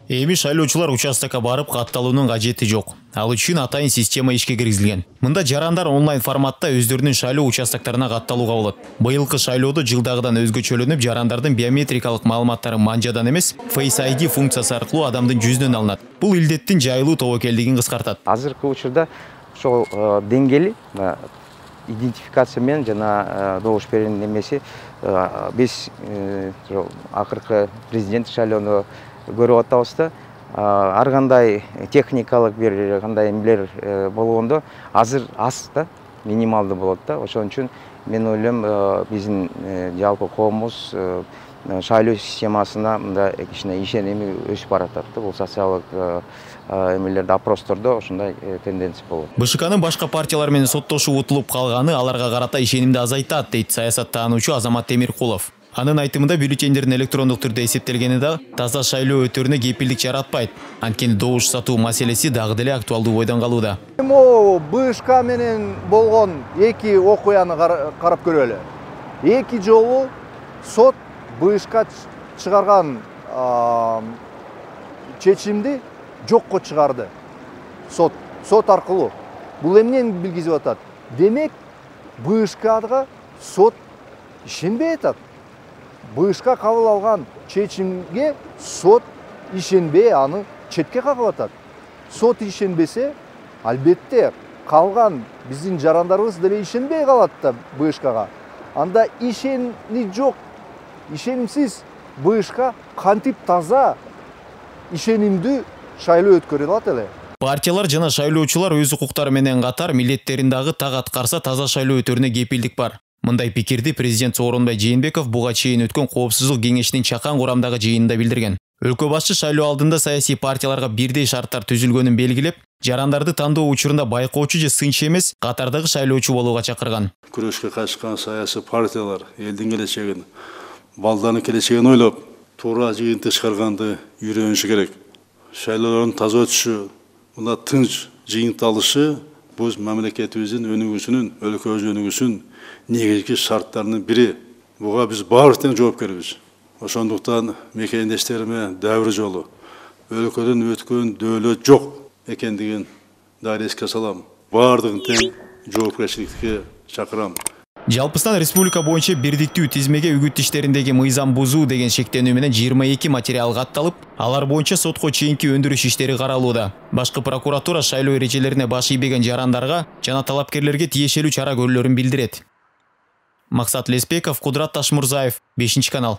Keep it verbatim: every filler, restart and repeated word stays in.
Эми шайлоочулар участокко барып катталуунун кажети жок. Ал үчүн атайын система ишке киргизилген. Мында жарандар онлайн форматта өздөрүнүн шайлоо участокторуна катталууга болот. Быйылкы шайлоодо жылдагыдан өзгөчөлөнүп, жарандардын биометрикалык маалыматтары манжадан эмес, Face ай ди функциясы аркылуу адамдын жүзүнөн алынат. Бул илдеттин жайылуу тобокелдигин кыскартат. Азыркы учурда ошол деңгээли идентификация менен жана добуш берүүнүн немеси биз акыркы президент шайлоону көрүп атабыз да, ар кандай техникалык бир кандай эмелер болгондо азыр аз да, минималдуу болот да. Ошон үчүн мен ойлойм биздин жалпы коомубуз шайлоо системасына мында кичине ишеними өсүп баратат да. Бул социалдык эмелерде, опростордо ошондой тенденция болот. БШКнын башка партиялар менен соттошуп утулуп калганы аларга карата ишенимди азайтат, дейт саясаттануучу Азамат Темиркулов. Анын айтымында бюллетендердин электрондук түрдө эсептелгени да таза шайлоо өтөрүнө кепилдик жаратпайт. Анткени добуш сатуу маселеси дагы деле актуалдуу бойдон калууда. Могу БШК менен болгон эки окуяны карап көрөлү. Эки жолу сот БШК чыгарган чечимди жокко чыгарды. Сот сот аркылуу. Бул эмнени билгизип атат? Демек, БШКга сот ишенбей атат. БШК кабыл алган чечимге сот ишенбей аны четке кагып атат. Сот ишенбесе, албетте калган биздин жарандарыбыз деле ишенбей калат да БШКга. Анда ишени жок, ишенимсиз БШК кантип таза, ишенимдүү шайлоо өткөрө алат эле? Партиялар жана шайлоочулар өз укуктары менен катар милдеттерин дагы так аткарса таза шайлоо өтөрүнө кепилдик бар. Мындай пикирди президент Сооронбай Жээнбеков буга чейин өткөн коопсуздук кеңешинин чакан курамдагы жыйынында билдирген. Өлкө башчы шайлоо алдында саясий партияларга бирдей шарттар түзүлгөнүн белгилеп, жарандарды тандоо учурунда байкоочу же сынчы эмес, катардагы шайлоочу болууга чакырган. Күрөшкө катышкан саясий партиялар элдин келечегин, балдардын келечегин ойлоп, туура жыйынтык чыгарганды үйрөнүшү керек. Шайлоолордун таза өтүшү, мына тынч жыйынтык алышы биз мамлекетибиздин өнүгүүсүнүн, өлкөбүздүн өнүгүүсүнүн негизги шарттарынын бири. Буга биз баары тең жоопкербиз. Ошондуктан мекендештериме дәвр жолу өлкөдөн өткөн дөөлөт жок экендигин дагы эске салам. Баардыгын тең жоопкерчиликке чакырам. Жалпыстан республика боюнча бирдиктүү тизмеге үгүт иштериндеги мыйзам бузуу деген шектенүү менен жыйырма эки материал катталып, алар боюнча сотко чейинки өндүрүш иштери каралууда. Башкы прокуратура шайлоо эрежелерине баш ийбеген жарандарга жана талапкерлерге тиешелүү чара көрүлөрүн билдирет. Максат Леспеков, Кудрат Ташмурзаев, бешинчи канал.